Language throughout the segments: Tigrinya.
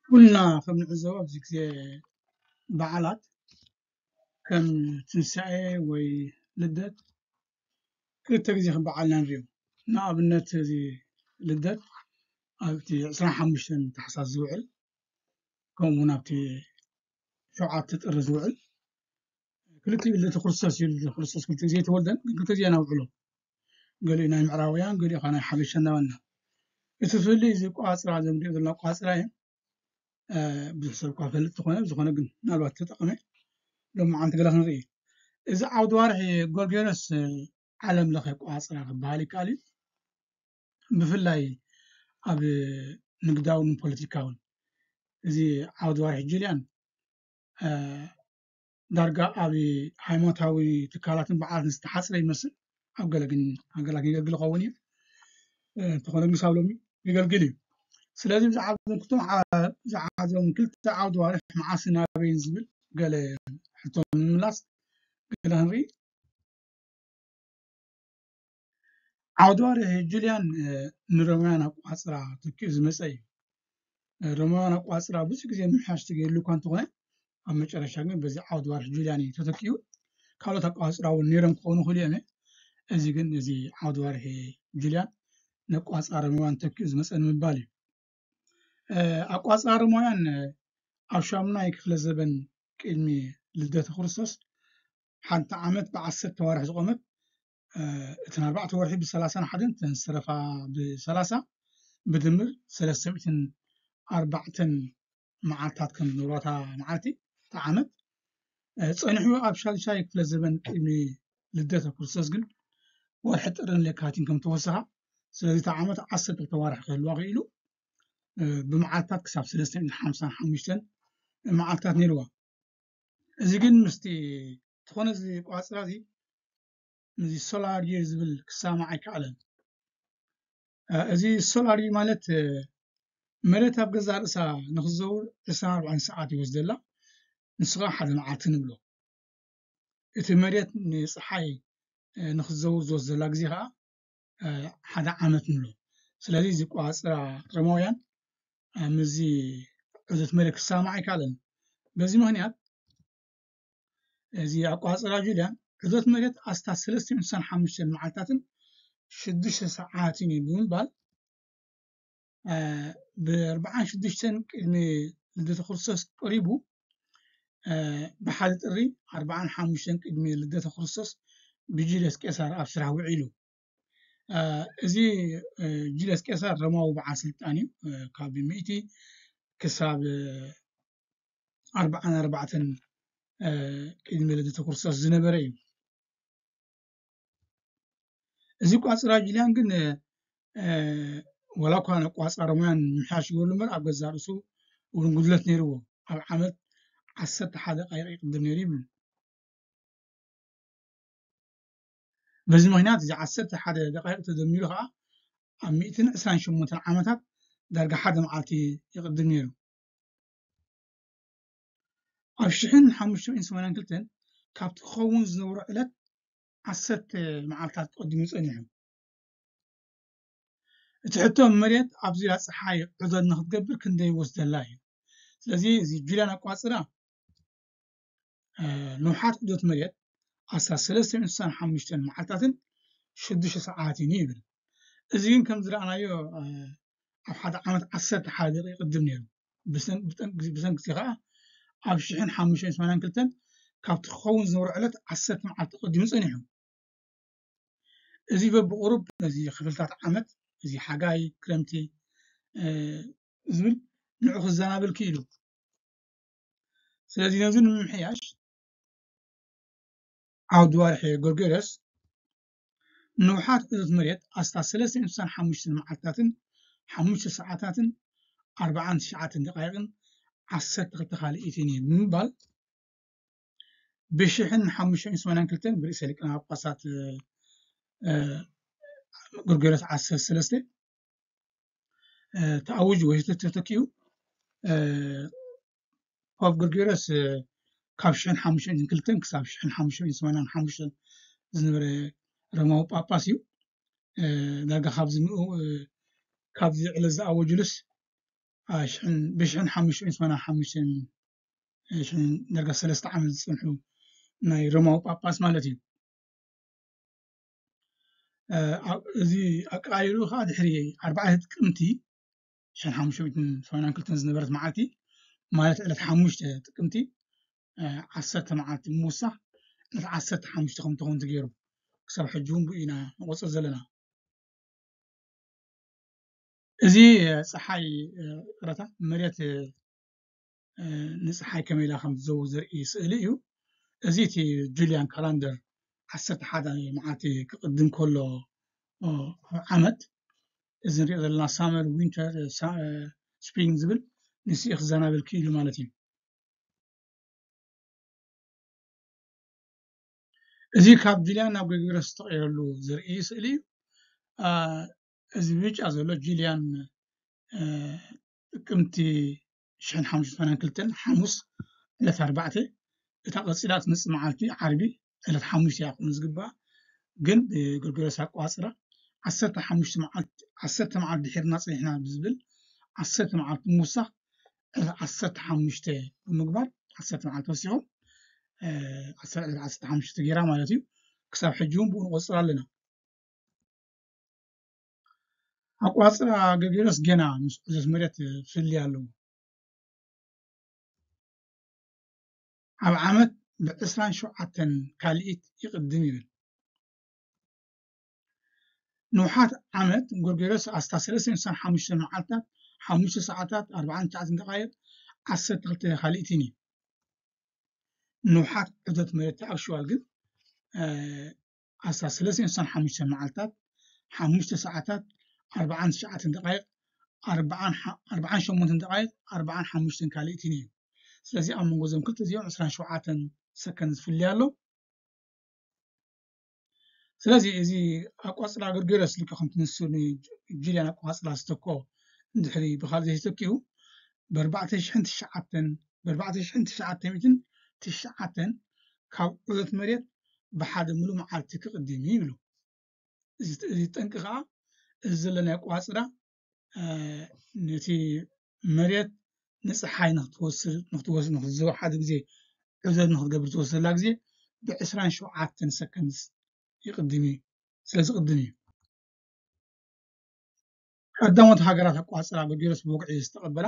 ኩልና ከም ንዕዘቦ ኣብዚ ግዜ በዓላት ከም ትንሳኤ ወይ ልደት ክልተ ግዜ ከም በዓል ኢና ንሪኦ። ንኣብነት እዚ ልደት ኣብቲ ዕስራን ሓሙሽተን ታሕሳስ ዝውዕል፣ ከምኡ እውን ኣብቲ ሸውዓተ ጥሪ ዝውዕል፣ ክልቲኡ ልደተ ክርስቶስ እዩ። ልደተ ክርስቶስ ክልተ ግዜ ኣይተወልደን፣ ግን ክልተ ግዜ ነውዕሎ። ገሊኡ ናይ ምዕራባውያን፣ ገሊኡ ከዓ ናይ ሓበሻ እናበልና። እቲ ፍልልይ እዚ ኣቋፅራ፣ እዚ ንሪኦ ዘለና ኣቋፅራ እዩ። ብዙሕ ሰብ እኳ ፈልጥ ተኾነ፣ ዝኾነ ግን ምናልባት ተጠቐመ ሎማዓንቲ ገለ ክንርኢ። እዚ ዓውዲ ዋርሒ ጎርጎርዮስ ዓለም ለኸ ኣቋፅራ ክበሃል ይከኣል እዩ። ብፍላይ ኣብ ንግዳውን ፖለቲካውን እዚ ዓውዲ ዋርሒ ጁልያን ዳርጋ ኣብ ሃይማኖታዊ ትካላትን በዓላትን ዝተሓፅረ ይመስል። ኣብ ገለ ግን ሃገራት የገልግል ይኸውን እዩ። እንተኾነ ግን ክሳብ ሎሚ የገልግል እዩ። ስለዚ ብዛዕባ እዞም ክልተ ዓውዲ ዋርሒ መዓስን ናበይን ዝብል ገለ ሕቶ ንምምላስ ገለ ክንርኢ። ዓውዲ ዋርሒ ጁልያን ንሮማውያን ኣቋፅራ ተኪኡ ዝመፀ እዩ። ሮማውያን ኣቋፅራ ብዙሕ ግዜ ምምሕያሽ ተገይርሉ እኳ እንተኾነ ኣብ መጨረሻ ግን በዚ ዓውዲ ዋርሒ ጁልያን እዩ ተተኪኡ። ካልኦት ኣቋፅራ እውን ነይሮም ክኾኑ ይኽእሉ እዮም። እዚ ግን እዚ ዓውዲ ዋርሒ ጁልያን ነቋፅራ ሮማውያን ተኪኡ ዝመፀ ንምባል እዩ። ኣቋፅራ ሮማውያን ኣብ ሻሙናይ ክፍለ ዘበን ቅድሚ ልደተ ክርስቶስ ሓንቲ ዓመት ብዓሰርተ ኣዋርሕ ዝቖመት፣ እተን ኣርባዕተ ወርሒ ብሰላሳን ሓደን እተን ዝተረፋ ብሰላሳ ብድምር ሰለስተ ሚእትን ኣርባዕተን መዓልታት ከም ዝነበራ እታ መዓልቲ እታ ዓመት ጸኒሑ። ኣብ ሻድሻይ ክፍለ ዘበን ቅድሚ ልደተ ክርስቶስ ግን ወርሒ ጥርን ለካቲን ከም ተወሰኻ፣ ስለዚ እታ ዓመት ዓሰርተ ክልተ ኣዋርሕ ክህልዋ ክኢሉ፣ ብመዓልታት ክሳብ ሰለስተ ሚእትን ሓምሳን ሓሙሽተን መዓልታት ነይርዋ። እዚ ግን ምስቲ ዝኾነ እዚ ቋፅራ እዚ ምስዚ ሶላር ይር ዝብል ክሰማማዕ ኣይከኣለን። እዚ ሶላር ይር ማለት መሬት ኣብ ገዛእ ርእሳ ንክትዘውር ዕስራን ኣርባዕተን ሰዓት ይወስደላ። ንሱ ከዓ ሓደ መዓልቲ ንብሎ። እቲ መሬት ንፀሓይ ንክትዘውር ዝወስደላ ግዜ ከዓ ሓደ ዓመት ንብሎ። ስለዚ እዚ ቋፅራ ሮማውያን ምስዚ ዑደት መሬት ክሰማማዕ ኣይከኣለን። በዚ ምክንያት እዚ ኣቋፅራ ጁልያን ዑደት መሬት ኣስታት ሰለስተ ሚእትን ሓምሳን ሓሙሽተን መዓልታትን ሽዱሽተ ሰዓትን እዩ ብምባል ብኣርባዓን ሽዱሽተን ቅድሚ ልደተ ክርስቶስ ቀሪቡ ብሓደ ጥሪ ኣርባዓን ሓሙሽተን ቅድሚ ልደተ ክርስቶስ ብጁልዮስ ቄሳር ኣብ ስራሕ ውዒሉ። እዚ ጁልዮስ ቄሳር ሮማዊ በዓል ስልጣን እዩ። ካብ ሚእቲ ክሳብ ኣርባዓን ኣርባዕተን ቅድሚ ልደተ ክርስቶስ ዝነበረ እዩ። እዚ ቋፅራ ጁልያን ግን ወላ እኳ ነቋፃሪ ሞያን ምሕያሽ ይገብሩ እምበር ኣብ ገዛእ ርእሱ እውን ጉድለት ነይርዎ። ኣብ ዓመት ዓሰርተ ሓደ ደቃይቕ ይቕድም ነይሩ ይብል። በዚ ምክንያት እዚ ዓሰርተ ሓደ ደቃይቕ ተደሚሩ ከዓ ኣብ ሚእትን ዕስራን ሸሞንተን ዓመታት ዳርጋ ሓደ መዓልቲ ይቕድም ነይሩ። ኣብ ሽሕን ሓሙሽተ ሚእትን ሰማንያን ክልተን ካብቲ ክኸውን ዝነበሮ ዕለት ዓሰርተ መዓልታት ቀዲሙ ጸኒሑ። እቲ ሕቶ መሬት ኣብ ዙርያ ጸሓይ ዑደት ንክትገብር ክንደይ ይወስደላ እዩ። ስለዚ እዚ ጁልያን ኣቋጽራ ንውሓት ዑደት መሬት ኣስታት ሰለስተ ሚእትን ስሳን ሓሙሽተን መዓልታትን ሽዱሽተ ሰዓትን እዩ ይብል። እዚ ግን ከም ዝረኣናዮ ኣብ ሓደ ዓመት ዓሰርተ ሓደ ደቂቕ ይቕድም ነይሩ። ብሰንኪ እዚ ከዓ ኣብ ሽሕን ሓሙሽተ ሚእትን ሰማንያን ክልተን ካብቲ ክኸውን ዝነበሮ ዕለት ዓሰርተ መዓልቲ ቀዲሙ ጸኒሑ። እዚ በብቑሩብ ነዚ ክፍልታት ዓመት፣ እዚ ሓጋይ፣ ክረምቲ ዝብል ንዑ ክዘናብል ክኢሉ። ስለዚ ነዚ ንምምሕያሽ ዓውዲ ዋርሒ ጎርጎርዮስ ንውሓት ዑደት መሬት ኣስታት ሰለስተ ሚእትን ስሳን ሓሙሽተን መዓልታትን ሓሙሽተ ሰዓታትን ኣርባዓን ትሽዓተን ደቃይቕን ዓሰርተ ክልተ ካልኢትን እዩ ብምባል ብሽሕን ሓሙሽተ ሚእትን ሰማንያን ክልተን ብርእሰ ሊቃነ ጳጳሳት ጎርጎርዮስ ዓሰርተ ሰለስተ ተኣዊጁ ወይ ተተኪኡ። ፖፕ ጎርጎርዮስ ካብ ሽሕን ሓሙሽተ ሚእትን ክልተን ክሳብ ሽሕን ሓሙሽተ ሚእትን ሰማንያን ሓሙሽተን ዝነበረ ሮማዊ ጳጳስ እዩ። ዳርጋ ካብዚ ንኡ ካብዚ ዕለት ዝኣወጅሉስ አ፣ ሽሕን፣ ብሽሕን ሓሙሽተ ሚእትን ሰማንያን ሓሙሽተን፣ እ፣ ሽሕን፣ ዳርጋ ሰለስተ ዓመት ዝጸንሑ ናይ ሮማዊ ጳጳስ ማለት እዩ። እ፣ ኣብ፣ እዚ ኣቀያይሩ ከዓ ድሕሪ ኣርባዕተ ጥቅምቲ ሽሕን ሓሙሽተ ሚእትን ሰማንያን ክልተን ዝነበረት መዓልቲ፣ ማለት ዕለት ሓሙሽተ ጥቅምቲ፣ እ፣ ዓሰርተ መዓልቲ ምውሳኽ ዕለት ዓሰርተ ሓሙሽተ ከም ትኸውን ተገይሩ። ክሳብ ሕጂ እውን ብኡ ኢና ንቆጽር ዘለና። እዚ፣ እ፣ ጸሓይ፣ እ፣ ይቕረታ፣ መሬት፣ እ፣ እ፣ ንጸሓይ ከመይ ኢላ ከም ትዘውር ዘርኢ ስእሊ እዩ። እዚ እቲ ጁልያን ካላንደር ዓሰርተ ሓደ መዓልቲ ክቕድም ከሎ፣ እ፣ ዓመት፣ እዚ ንሪኦ ዘለና ሳመር፣ ዊንተር፣ እ፣ ሳ-፣ እ፣ ስፕሪንግ ዝብል ንሱ እዩ ክዘናብል ክኢሉ ማለት እዩ። እዚ ካብ ጁልያን ናብ ግሪጎርዮስ ዝተቐየረሉ ዘርኢ ስእሊ እዩ። አ፣ እዚ ብጫ ዘሎ ጁልያን፣ እ፣ ጥቅምቲ ሽሕን ሓሙሽተ ሚእትን ሰማንያን ክልተን ሓሙስ ዕለት ኣርባዕተ፣ እታ ቀጺላ ትመጽእ መዓልቲ ዓርቢ ዕለት ሓሙሽተ እያ ክኾን ዝግባኣ፣ ግን ብግሪጎርዮስ ኣቆጻጽራ ዓሰርተ ሓሙሽተ መዓልቲ፣ ዓሰርተ መዓልቲ ድሒርና ጸኒሕና ብዝብል ዓሰርተ መዓልቲ ምውሳኽ ዕለት ዓሰርተ ሓሙሽተ ብምግባር፣ ዓሰርተ መዓልቲ ወሲኹ፣ እ፣ ዓሰርተ፣ ዕለት ዓሰርተ ሓሙሽተ ገይራ ማለት እዩ። ክሳብ ሕጂ እውን ብኡ ንቆጽር ኣለና። ኣቆጻጽራ ግሪጎርዮስ ገና ምስ ዑደት መሬት ፍልልይ ኣለዎ። ኣብ ዓመት ብዕስራን ሸውዓተን ካልኢት ይቕድም ይብል። ንውሓት ዓመት ጎርጎርዮስ ኣስታት ሰለስተ ሚእትን ሓሙሽተ መዓልታት፣ ሓሙሽተ ሰዓታት፣ ኣርባዓን ትሽዓተን ደቓይቕ፣ ዓሰርተ ክልተ ካልኢትን እዩ። ንውሓት ዑደት መሬት ኣክሽዋል ግን፣ እ፣ ኣስታት ሰለስተ ሚእትን ሓሙሽተ መዓልታት፣ ሓሙሽተ ሰዓታት፣ ኣርባዓን ትሽዓተን ደቓይቕ፣ ኣርባዓን ሓ-፣ ኣርባዓን ሸሞንተን ደቓይቕ፣ ኣርባዓን ሓሙሽተን ካልኢትን እዩ። ስለዚ ኣብ መንጎ እዞም ክልተ እዚኦም ዕስራን ሸውዓተን ሰከንድ ዝፍለ ኣሎ። ስለዚ እዚ ኣቋጽላ ግሪጎርዮስ ልክዕ ከምቲ ንሱ ንጁልያን ኣቋጽላ ዝተክኦ እንድሕሪ ብኻልእ ዘይተኪኡ፣ ብኣርባዕተ ሽሕን ትሽዓተን፣ ብኣርባዕተ ሽሕን ትሽዓተ ሚእትን ትሽዓተን ካብ ዑደት መሬት ብሓደ ምሉእ መዓልቲ ክቕድም እዩ ይብሉ። እዚ፣ እዚ ጠንቂ ከዓ እዚ ዘለናዮ ኣቋጽላ፣ እ፣ ነቲ መሬት ንጸሓይ ንክትወስድ፣ ንክትወስድ፣ ንክትዘውር ሓደ ግዜ ዑደት ንክትገብር ትወስደላ ግዜ ብዕስራን ሸውዓተን ሰከንድስ ይቕድም እዩ። ስለ ዝቕድም እዩ። ቀዳሞት ሃገራት ኣቋጽራ ጎርጎርዮስ ብወግዒ ዝተቐበላ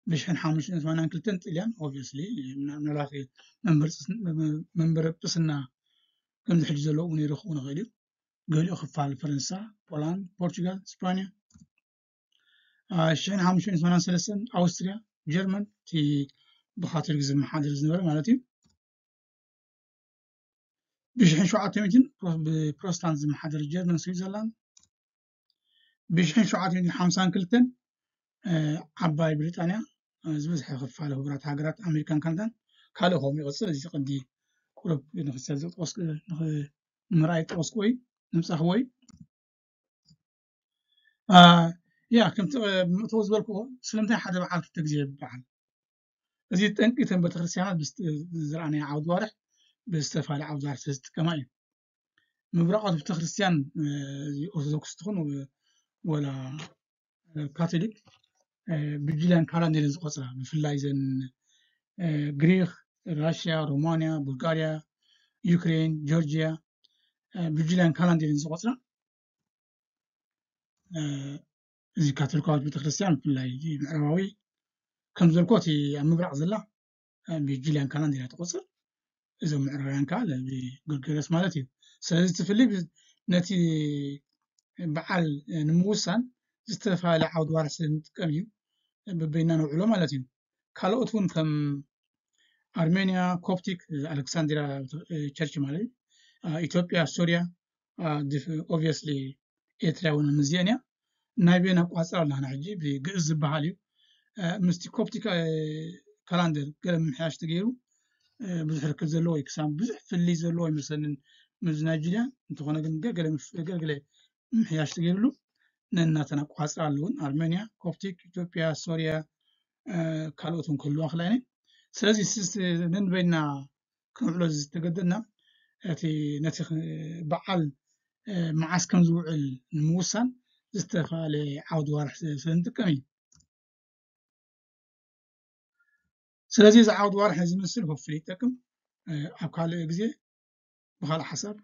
ብሽሕን ሓሙሽተ ሚእትን ሰማንያን ክልተን ጥልያን፣ ኦብቪየስሊ፣ ምናልባት መንበር ጵስ-፣ መንበር ጵስና ከምዚ ሕጂ ዘለዎ እውን ይረኽቡ ንኽእል እዩ። ገሊኡ ክፋል ፈረንሳ፣ ፖላንድ፣ ፖርቹጋል፣ ስፓንያ። አ፣ ሽሕን ሓሙሽተ ሚእትን ሰማንያን ሰለስተን ኣውስትርያ፣ ጀርመን፣ እቲ ብካቶሊክ ዝመሓደር ዝነበረ ማለት እዩ። ብሽሕን ሸውዓተ ሚእትን ፕሮ-፣ ብፕሮቴስታንት ዝመሓደር ጀርመን፣ ስዊዘርላንድ። ብሽሕን ሸውዓተ ሚእትን ሓምሳን ክልተን፣ እ፣ ዓባይ ብሪጣንያ፣ እ፣ ዝበዝሐ ክፋል ሕቡራት ሃገራት ኣሜሪካን ካናዳን ካልእ ከምኡ ይቕጽል። እዚ ቀንዲ ቁሩብ ንክሰብ ዝጠቐስኩ፣ ንኽ-፣ ንምርኣይ ዝጠቐስኩዎ እዩ፣ ንምጻኽዎ እዩ። አ፣ ያ፣ ከምቲ፣ እ፣ ብምእተዊ ዝበልክዎ፣ ስለምንታይ ሓደ በዓል ክልተ ግዜ ይበዓል? እዚ ጠንቂ እተን ቤተክርስትያናት ብዝተ-፣ ዝረኣናዮ ዓውዲ ዋርሕ ብዝተፈላለየ ዓውዲ ዋርሕ ስለ ዝጥቀማ እዩ። ምብራቓት ቤተክርስትያን፣ እ፣ እዚ ኦርቶዶክስ ትኹን ወ-፣ ወላ፣ እ፣ ካቶሊክ፣ እ፣ ብጁልያን ካላንደር እየን ዝቆጽራ። ብፍላይ እዘን፣ እ፣ ግሪክ፣ ራሽያ፣ ሮማንያ፣ ቡልጋርያ፣ ዩክሬን፣ ጆርጅያ፣ እ፣ ብጁልያን ካላንደር እየን ዝቆጽራ። እ፣ እዚ ካቶሊካዊት ቤተክርስትያን ብፍላይ እዚ ምዕራባዊ ከም ዘልኮ እቲ ኣብ ምብራቕ ዘላ፣ እ፣ ብጁልያን ካላንደር እያ ትቆጽር። እዞም ምዕራባውያን ከዓ ብግሪጎርዮስ ማለት እዩ። ስለዚ እቲ ፍልይ ብ-፣ ነቲ በዓል፣ እ፣ ንምውሳን ዝተፈላለየ ዓውዲ ዋርሕ ስለ እንጥቀም እዩ፣ በበይና ነውዕሎ ማለት እዩ። ካልኦት እውን ከም ኣርሜንያ፣ ኮፕቲክ፣ ኣሌክሳንድሪያ፣ እ፣ ቸርች ማለት እዩ፣ እ፣ ኢትዮጵያ፣ ሶርያ፣ እ፣ ዲፍ-፣ ኦብቪየስሊ ኤርትራ እውን ምስዚአን እያ። ናይ በይና ኣቋጽራ ኣለና ሕጂ ብግእዝ ዝበሃል እዩ። እ፣ ምስቲ ኮፕቲክ፣ እ፣ ካላንደር ገለ ምምሕያሽ ተገይሩ፣ እ፣ ብዙሕ ርክብ ዘለዎ እዩ፣ ክሳብ ብዙሕ ፍልይ ዘለዎ ኣይመስለንን ምስ ናይ ጁልያን። እንተኾነ ግን ገለ ምፍ-፣ ገለ ገለ ምምሕያሽ ተገይሩሉ ነናተን ኣቋጽራ ኣለውን። ኣርሜንያ፣ ኮፕቲክ፣ ኢትዮጵያ፣ ሶርያ፣ እ፣ ካልኦት እውን ክህልዋ ክላ እየን። ስለዚ ስ-፣ ስ-፣ ነንበይና ክነውዕሎ ዝተገደድና፣ እቲ ነቲ ኽ-፣ በዓል፣ እ፣ መዓስ ከም ዝውዕል ንምውሳን ዝተፈላለየ ዓውዲ ዋርሕ ስ-፣ ስለ ንጥቀም እዩ። ስለዚ እዚ ዓውዲ ዋርሒ እዚ ምስል ሆፍል ይጠቅም። ኣብ ካልእ ግዜ ብካልእ ሓሳብ